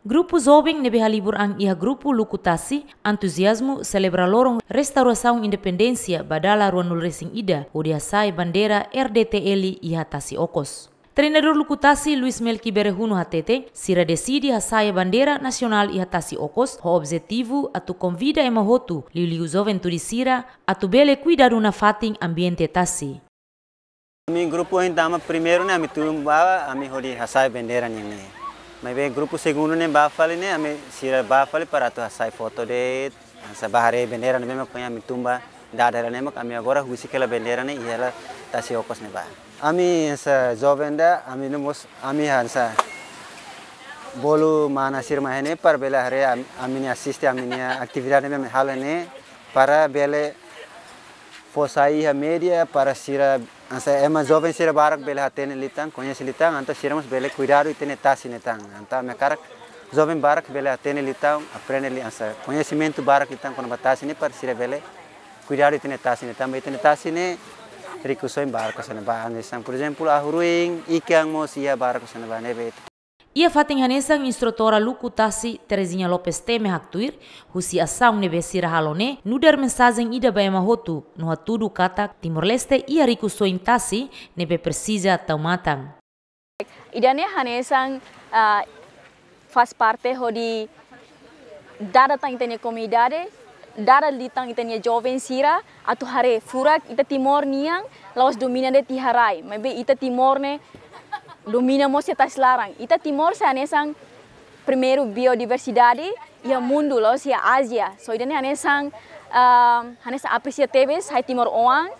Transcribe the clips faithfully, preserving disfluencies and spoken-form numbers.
Grupu joven ne'ebé halibur an iha grupu Luku Tasi entuziazmu selebra loron restaurasaun independénsia ba dala ruanulu resin ida hodi hasa'e bandeira R D T L iha Tasi Okos. Treinadór Luku Tasi, Luis Melki Berehunu hatete, sira deside hasa'e bandeira nasionál iha Tasi Okos ho objetivu atu konvida ema hotu, liuliu juventude sira, atu bele kuidadu nafatin ambiente tasi. Ami grupu ohin tama primeiru ne'e ami tun ba, ami hodi hasa'e bandeira nian ne'e. Maibé grupu segundu ne'e ba fali ne'e, ami sira ba fali para atu hasa'e foto de'it, hanesan ba haree bandeira ne'ebé mak ohin ami tun ba dada hela ne'e mak ami agora husik hela bandeira ne'e iha hela Tasi Okos ne'ebá. Ami hanesan joven ida, ami no mós, ami hanesan bolu mana sira mai ne'e para bele haree am-, ami-nia asiste, ami-nia atividade ne'ebé ami halo ne'e para bele fó sai iha média para sira, hanesan ema joven sira barak bele hatene liután, koñese liután, entaun sira mós bele kuidadu ita-nia tasi ne'e tan. Entaun ami hakarak joven barak bele hatene liután, aprende liu, hanesan koñesimentu barak liután kona-ba tasi ne'e para sira bele kuidadu ita-nia tasi ne'e tan. Tanba ita-nia tasi ne'e rikusoin barak hanesan ba, hanesan, por ezemplu, ahu-ruin, ikan mós iha barak hanesan ba ne'ebé. Iha fatin hanesan, instrutora Luku Tasi, Terezinha Lopes Teme haktuir, husi asaun ne'ebé sira halo ne'e nu'udar mensajen ida ba ema hotu, no hatudu katak Timor-Leste iha rikusoin tasi ne'ebé presiza tau matan. Ida-ne'e hanesan, ah, faz parte hodi dada tan ita-nia komunidade, dada liután ita-nia joven sira, atu haree furak ita Timor nian la'ós domina de'it iha rai, maibé ita Timor ne'e domina mós iha tasi laran. Ita Timor sai hanesan primeiru biodiversidade iha mundu, la'ós iha Ázia. So ida-ne'e hanesan, ah, hanesan apresia tebes hai timoroan,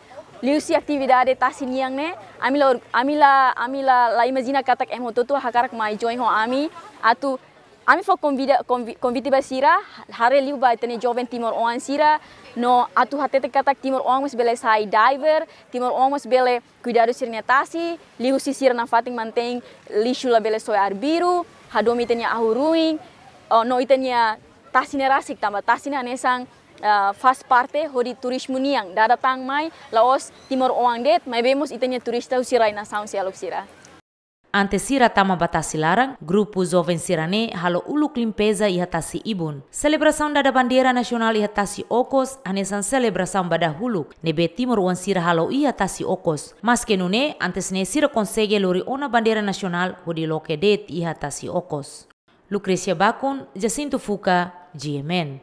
liuhusi atividade tasi nian ne'e, ami la or-, ami la, ami la, la imajina katak ema hotu-hotu hakarak mai join ho ami, atu ami fó konvida, konvi-, konvite ba sira, haree liu ba ita-nia joven timoroan sira, no atu hatete katak timoroan mós bele sai diver, timoroan mós bele kuidadu sira-nia tasi, liuhusi sira nafatin mantein lixu labele soe arbiru, hadomi ita-nia ahu-ruin, oh, no ita-nia tasi ne'e rasik tanba tasi ne'e hanesan, ah, faz parte hodi turizmu nian, dada tan mai, la'ós timoroan de'it, maibé mós ita-nia turista husi rai nasaun seluk sira. Antes sira tama ba tasi laran, grupu joven sira-ne'e halo uluk limpeza iha tasi ibun. Selebrasaun dada bandeira nasionál iha Tasi Okos hanesan selebrasaun ba dahuluk ne'ebé timoroan sira halo iha Tasi Okos. Maske nune'e, antes ne'e sira konsege lori ona bandeira nasionál hodi loke de'it iha Tasi Okos. Lucrecia Bacon, Jacinto Fuca, G M N.